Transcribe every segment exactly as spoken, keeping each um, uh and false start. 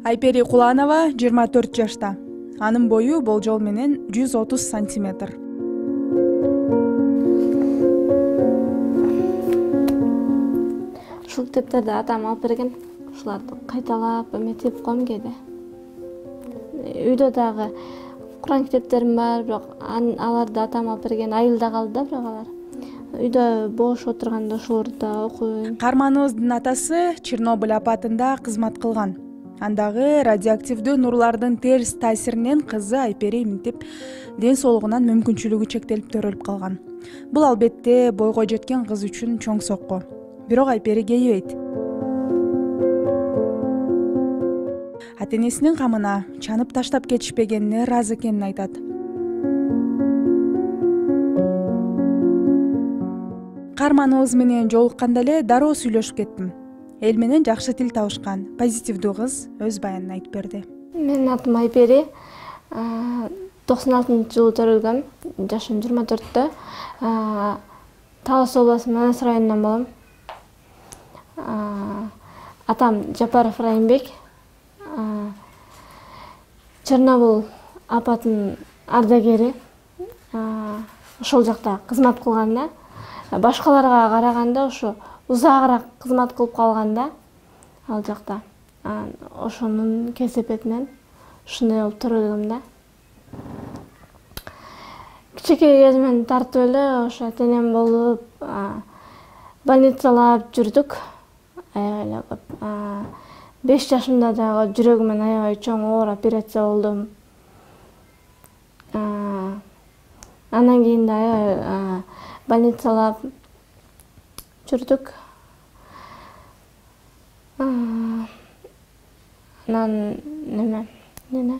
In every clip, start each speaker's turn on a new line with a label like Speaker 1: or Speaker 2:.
Speaker 1: Айпери Куланова жыйырма төрт жашта. Анын бою болжол менен жүз отуз сантиметр.
Speaker 2: Ушул китептерди атам алып берген. Ушуларды кайталап эметип койм кээде. Үйдө дагы Куран китептерим бар, бирок аларды атам алып берген. Айылда калды да, бирок алар. Үйдө бош отурганда ошолорду да окуйм.
Speaker 1: Каарманыбыздын атасы Чернобыль апатында кызмат кылган. Андагы радиоактивдүү нурлардын терс таасиринен кызы Айпери минтип ден соолугунан мүмкүнчүлүгү чектелип төрөлүп калган. Бул албетте бойго жеткен кыз үчүн чоң сокко. Бирок Айпери кейибейт. Ата-энесинин камына чанып таштап кетишпегенине ыраазы экенин айтат. Каарманыбыз менен жолукканда эле дароо сүйлөшүп кеттим. Эл менен жакшы тил табышкан, позитивдүү кыз өз баянын айтып берди.
Speaker 2: Менин атым Айпери. токсон алтынчы жылы төрөлгөм. Жашым жыйырма төрттө. Талас обласу Манас районунан болом. Атам Жапаров Райымбек. Чернобыль апатынын ардагери. Ошол жакта кызмат кылган да. Башкаларга караганда ошо узагыраак кызмат кылып калган да ал жакта. Ошонун кесепетинен ушундай болуп төрөлгөм да. Кичинекей кезимден тартып эле ошо ата-энем болуп, больницалап жүрдүк. Аябай көп. беш жашымда дагы жүрөгүмөн аябай чоң оор операция болдум. Андан кийин да аябай больницалап жүрдүк. Анан неме, неме.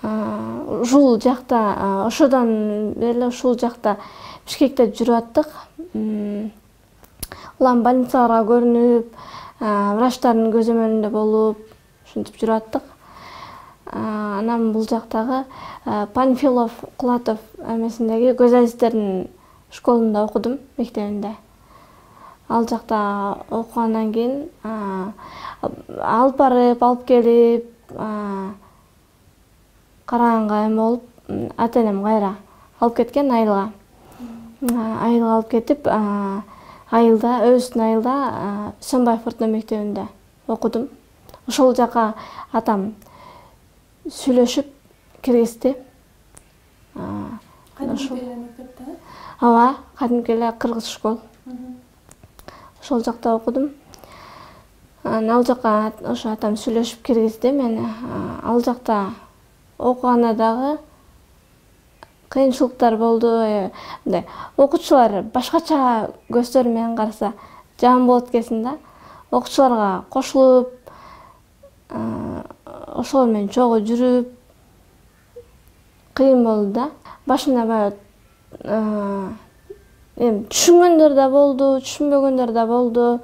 Speaker 2: Ушул жакта, ошодон бери ушул жакта Бишкекте жүрүп аттык. Улам больницаларга көрүнүп, врачтардын көзөмөлүндө болуп, ушинтип жүрүп аттык. Анан бул жактагы Панфилов, Кулатов эмесиндеги көз азистердин школунда окудум, мектебинде. Ал жакта окугандан кийин алып барып, алып келип, караганга эме болуп, ата-энем кайра алып кеткен айылга. Айылга алып кетип, айылда, өбүстүн айылда Сөнбаев орто мектебинде окудум. Ошол жака атам сүйлөшүп киргизди.
Speaker 3: Кадимки эле мектепте?
Speaker 2: Ооба, кадимки эле кыргыз школ. Ошол жакта окудум. Ал жака ошо атам сүйлөшүп киргизди мени. Ал жакта окуганда дагы кыйынчылыктар болду. Мындай окуучулар башкача көздөр менен караса жаман болот экенсиң да. Окуучуларга кошулуп, ошол менен чогуу жүрүп кыйын болду да. Башында баягы эми түшүнгөндөр да болду, түшүнбөгөндөр да болду.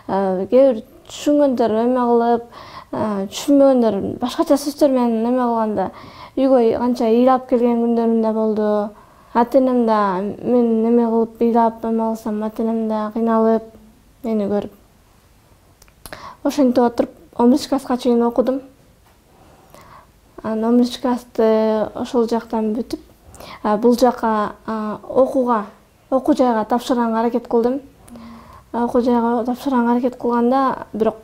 Speaker 2: Кээ бир түшүнгөндөр эме кылып, түшүнбөгөндөр башкача сөздөр менен эме кылганда үйгө канча ыйлап келген күндөрүм да болду. Ата-энем да мен эме кылып ыйлап эме кылсам, ата-энем да кыйналып мени көрүп. Ошентип отуруп он биринчи класска чейин окудум. Анан он биринчи классты ошол жактан бүтүп, бул жака окууга, окуу жайга тапшырганга аракет кылдым. Окуу жайга тапшырганга аракет кылганда, бирок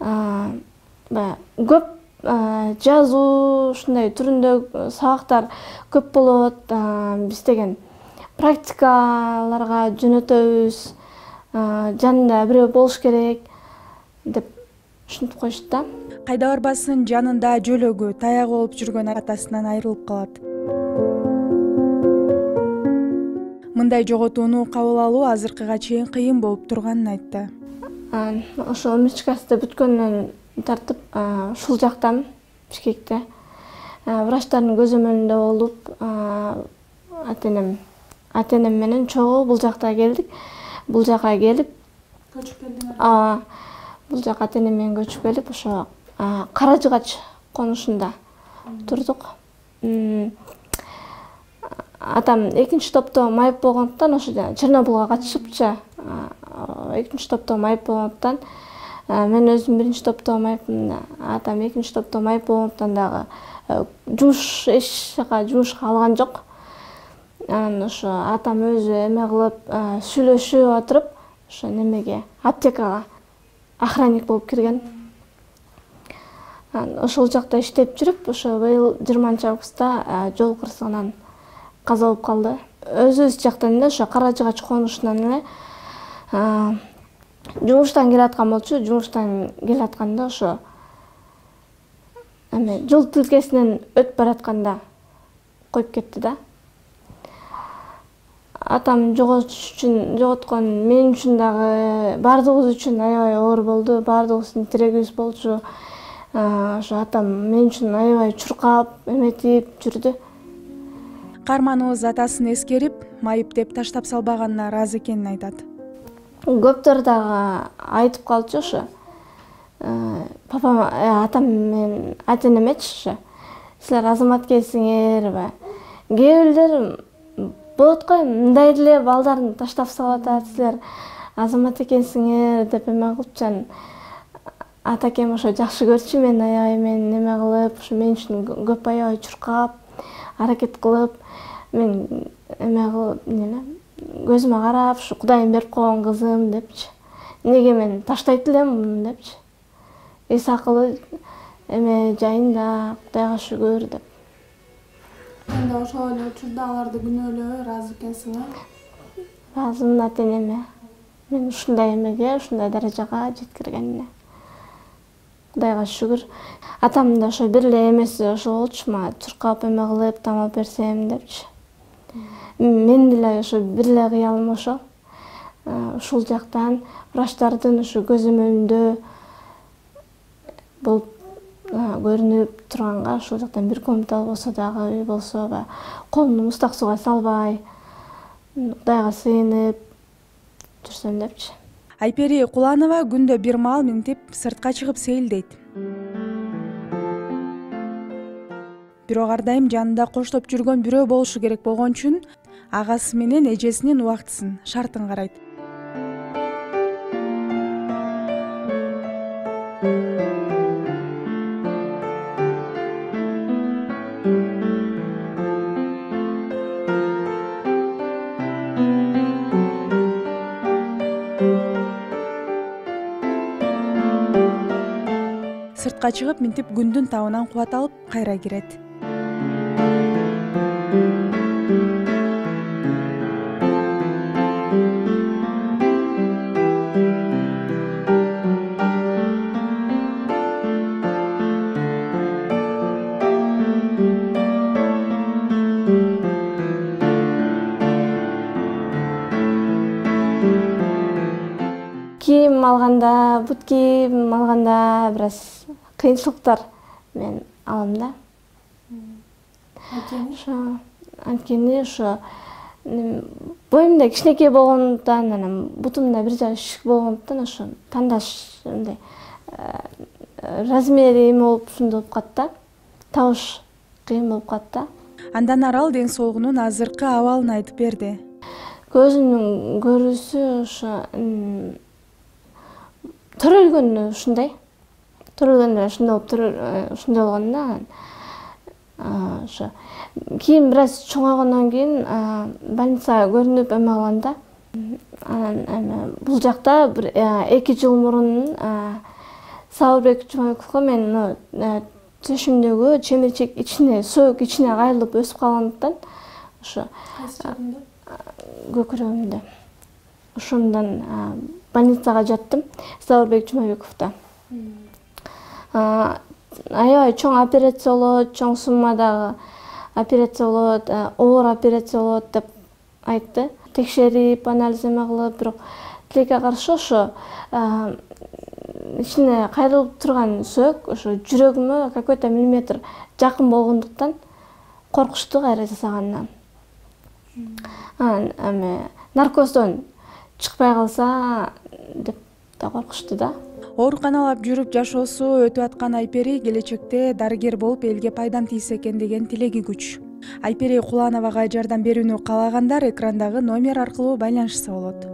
Speaker 2: баягы көп жазуу ушундай түрүндө сабактар көп болот. Биз деген практикаларга жөнөтөбүз. Жанында бирөө болуш керек деп ушинтип коюшту да.
Speaker 1: Кайда барбасын жанында жөлөгү, таягы болуп жүргөн атасынан айрылып калат. Мындай жоготууну кабыл алуу азыркыга чейин кыйын болуп турганын айтты.
Speaker 2: Ошо он биринчи классты бүткөндөн тартып ушул жактам, Бишкекте. Врачтардын көзөмөлүндө болуп, ата-энем, ата-энем менен чогуу бул жакка келдик. Бул жака келип,
Speaker 3: көчүп келдиңер?
Speaker 2: Ооба. Бул жака ата-энем менен көчүп келип, ошо Кара Жыгач конушунда турдук. Атам экинчи топто майып болгондуктан, ошо Чернобылга катышыпчы, экинчи топто майып болгондуктан мен өзүм биринчи топто окумайбын, атам экинчи топто окумайт болгондуктан дагы жумуш эч жака жумушка алган жок. Анан ошо атам өзү эме кылып сүйлөшүп отуруп ошо немеге аптекага охранник болуп кирген. Ошол жакта иштеп жүрүп, ошо быйыл жыйырманчы августта жол кырсыгынан каза болуп калды. Өзүбүз жактан эле ошо Кара Жыгач конушунан эле жумуштан келаткан болчу. Жумуштан келатканда ошо эме жол тилкесинен өтүп баратканда коюп кетти да. Атам жоготуш үчүн жоготкон мен үчүн дагы баардыгыбыз үчүн аябай оор болду. Баардыгыбыздын тирегибиз болчу. Ошо атам мен үчүн аябай чуркап, эметип жүрдү.
Speaker 1: Каарманыбыз атасын эскерип, майып деп таштап салбаганына ыраазы экенин айтат.
Speaker 2: Көптөр дагы айтып калчу ошо. Папам, атам мен ата-энемечи ошо. Силер азамат экенсиңерби? Кээ бирлер болот го, мындай эле балдарын таштап салып атат, силер азамат экенсиңер деп эме кылыпчан. Атакем ошо жакшы көрчү мен аябай мен неме кылып, ошо мен үчүн көп аябай чуркап, аракет кылып, мен эме кылып, неме көзүмө карап, ушу Кудайым берип койгон кызым депчи. Неге мен таштайт элем депчи. Эс акылы эме жайында Кудайга шүгүр деп.
Speaker 3: Анда ошол эле учурда аларды күнөөлөбөй ыраазы экенсиң, э?
Speaker 2: Ыраазымын ата-энеме. Мен ушундай эмеге, ушундай даражага жеткиргенине. Кудайга шүгүр. Атам да ошо бир эле эмеси ошо болчу, мага чуркап эме кылып, тамак берсем депчи. Мен деле ошо бир эле кыялым ошол. Ушул жактан врачтардын ошо көзүм önүндө болуп көрүнүп турганга, ушул жактан бир комната болсо дагы, үй болсо да, колумду муздак сууга салбай, Кудайга сыйынып жүрсөм депчи.
Speaker 1: Айпери Куланова күндө бир маал минтип сыртка чыгып сейилдейт. Бирок ар дайым жанында коштоп жүргөн бирөө болушу керек болгон үчүн агасы менен эжесинин убактысын, шартын карайт. Сыртка чыгып минтип күндүн табынан кубат алып кайра кирет.
Speaker 2: Кийим алганда, бут кийим алганда бир аз кыйынчылыктар мен алам да. Ошо анткени ошо боюмда кичинекей болгондуктан, анан бутумда бир жагы шишик болгондуктан ошо тандаш мындай размери эме болуп ушундай болуп калат да. Табыш кыйын болуп калат да.
Speaker 1: Андан арал ден соолугунун азыркы абалын айтып берди.
Speaker 2: Көзүмдүн көрүүсү ошо төрөлгөнү ушундай. Төрөлгөндө ушундай болуп ушундай болгон да. Ошо кийин бир аз чоңойгондон кийин больницага көрүнүп эме кылганда, анан эме бул жакта бир эки жыл мурун Сабырбек Жумабековго мен төшүмдөгү чемирчек ичине, сөөк ичине кайрылып өсүп калгандыктан ошо көкүрөгүмдө. Ошондон больницага жаттым, Сабырбек Жумабековдо. Аябай чоң операция болот, чоң суммадагы операция болот, оор операция болот деп айтты. Текшерип, анализ эме кылып, бирок тилекке каршы ошо ичине кайрылып турган сөөк ошо жүрөгүмө какой-то миллиметр жакын болгондуктан коркушту кайра жасаганынан. Анан эме наркоздон чыкпай калса деп да коркушту да.
Speaker 1: Ооруканалап жүрүп жашоосу өтүп аткан Айпери келечекте дарыгер болуп элге пайдам тийсе экен деген тилеги күч. Айпери Кулановага жардам берүүнү каалагандар экрандагы номер аркылуу байланышса болот.